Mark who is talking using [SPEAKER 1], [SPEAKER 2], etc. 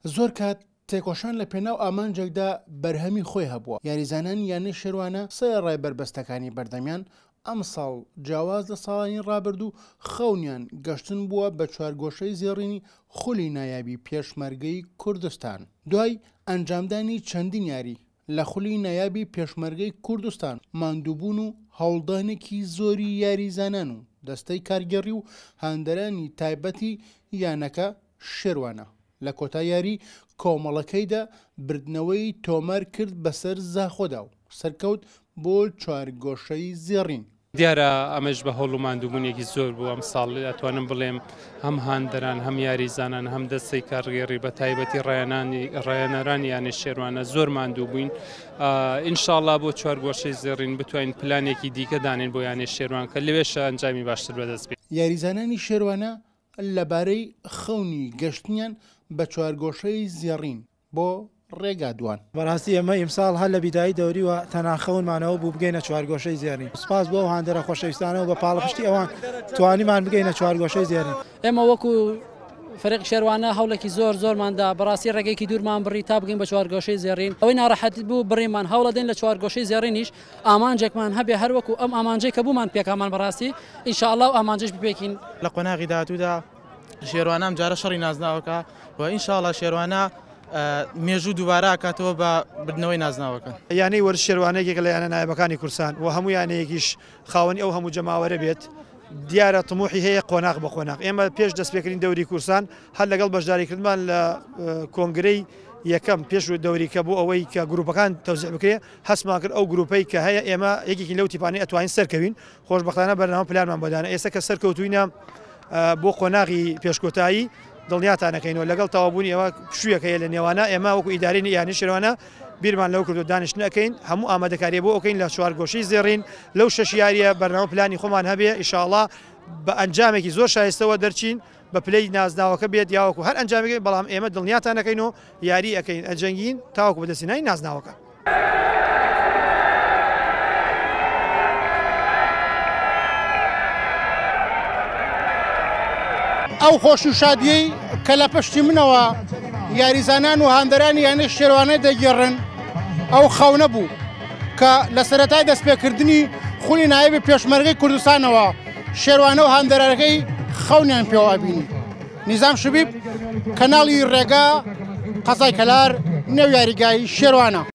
[SPEAKER 1] زۆر کات تێکۆشان لە پێناو ئامانجێکدا بەرهەمی خۆی هەبووە، یاریزانانی یانەی شێروانە سەرەڕای بەربەستەکانی بەردەمیان، ئەمساڵ جیاواز لە ساڵانی رابردوو خەونیان گەشتن بووە بە چوارگۆشەی زێڕینی خولی نایابی پێشمەرگەی کوردستان. دوای ئەنجامدانی چەندین یاری لە خولی نایابی پێشمەرگەی کوردستان، ماندووبوون و هەوڵدانێکی زۆری یاریزانان و دەستەی کارگێڕی و هاندەرانی تایبەتی یانەکە شێروانە لە کۆتا یاری کۆمەڵەکەیدا بردنەوەی تۆمار کرد بەسەر زاخۆدا و سەرکەوت بۆ چوارگۆشەی زێڕین.
[SPEAKER 2] دیارە ئەمەش بە هەوڵ و ماندووبوونێکی زۆر بوو ئەمساڵ ئەتوانم بڵێم هەم هاندەران هەم یاریزانان هەم دەستەی کارگێڕی بە تایبەتی ڕایەنانی ڕایەنەرانی یانەی شێروانە زۆر ماندوو بووین ئینشاڵا بۆ چوارگۆشەی زێڕین بتوانین پلانێکی دیکە دانێن بۆ یانەی شێروان کە لەوێشە ئەنجامی باشتر بەدەست بێت.
[SPEAKER 1] یاریزانانی شێروانە لەبارەی خەونی گەشتنیان بە چوارگۆشەی زێڕین بۆ ڕێگا دوان.
[SPEAKER 3] بەڕاستی ئێمە ئیمساڵ هەر لە بیدایی دەوریوە تەنها خەونمان ئەوە بوو بگەینە چوارگۆشەی زێڕین. سوپاس بۆ ئەو هاندەرە خۆشەویستانە و بە پاڵپشتی ئەوان توانیمان بگەینە چوارگۆشەی زێڕین.
[SPEAKER 4] ئێمە وەکو فەریقی شێروانە هەوڵێکی زۆر زۆرمان دا، بەڕاستی ڕێگەیەکی دوورمان بڕی تا بگەین بە چوارگۆشەی زێڕین. ئەوەی ناڕەحەت بوو بڕیمان، هەوڵەدەین لە چوارگۆشەی زێڕینیش ئامانجێکمان هەبێ هەر وەکو ئەم ئامانجەی کە بوومان پێکامان بەڕاستی ان شاء اللە ئەو ئامانجەش بپێکین.
[SPEAKER 5] لە قۆناغی داهاتوودا شێروانە ئەمجارە شەڕی نازناوەکە و ان شاء اللە شێروانە مێژوو دووبارە ئەکاتەوە بە بردنەوەی نازناوەکە.
[SPEAKER 6] یانەی وەرز شێروانە یەکێکە لە یانە نایابەکانی کوردستان و هەموو یانەیەکیش خاوەنی ئەو هەموو جەماوەرە بێت دیارە تموحی هەیە قۆناغ بە قۆناغ ئێمە پێش دەستپێکردنی دەوری کوردستان هەر لەگەڵ بەشداریکردمان لە کۆنگرەی یەکەم پێش دەوریکە بۆ ئەوەی کە گروپەکان تەوزیع بکرێ هەستمان کرد ئەو گروپەی کە هەیە ئێمە یەکێکین لەو تیپانەی ئەتوانین سەرکەوین، خۆشبەختانە بەرنامە پلانمان بۆ دانا، ئێستا کە سەرکەوتوینە بۆ قۆناغی پێشکۆتایی دڵنیاتان ئەکەینەوە لەگەڵ تەواوبوونی ئەوە پشوویەک هەیە لە نێوانە ئێمە وەکو ئیدارەی یانەی شێروانە بیرمان لەوە کردو دانیشتن ئەکەین هەموو ئامادەکاریە بۆ ئەکەین لە چوارگۆشەی زێڕین لەو شەش یاریە بەرنامە پلانی خۆمان هەبێ ئیشاڵا بە ئەنجامێکی زۆر شایستەوە دەرچین بە پلەی نازناوەکە بێت یاوەکو هەر ئەنجامێک بێت، بەڵام ئێمە دڵنیاتان ئەکەین و یاری ئەکەین ئەجەنگین تاوەکو بەدەستهێنانی نازناوەکە.
[SPEAKER 1] ئەو خۆشی و شادیەی کە لە پشتی منەوە یاریزانان و هاندەرانی یانەی شێروانە دەگێڕن ئەو خەونە بوو کە لە سەرەتای دەستپێکردنی خولی نایابی پێشمەرگەی کوردستانەوە شێروانە و هاندەرەکەی خەونیان پێوە ئەبینی. نیزام شبیب، کەناڵی ڕێگا، قەزای کەلار، نێو یاریگای شێروانە.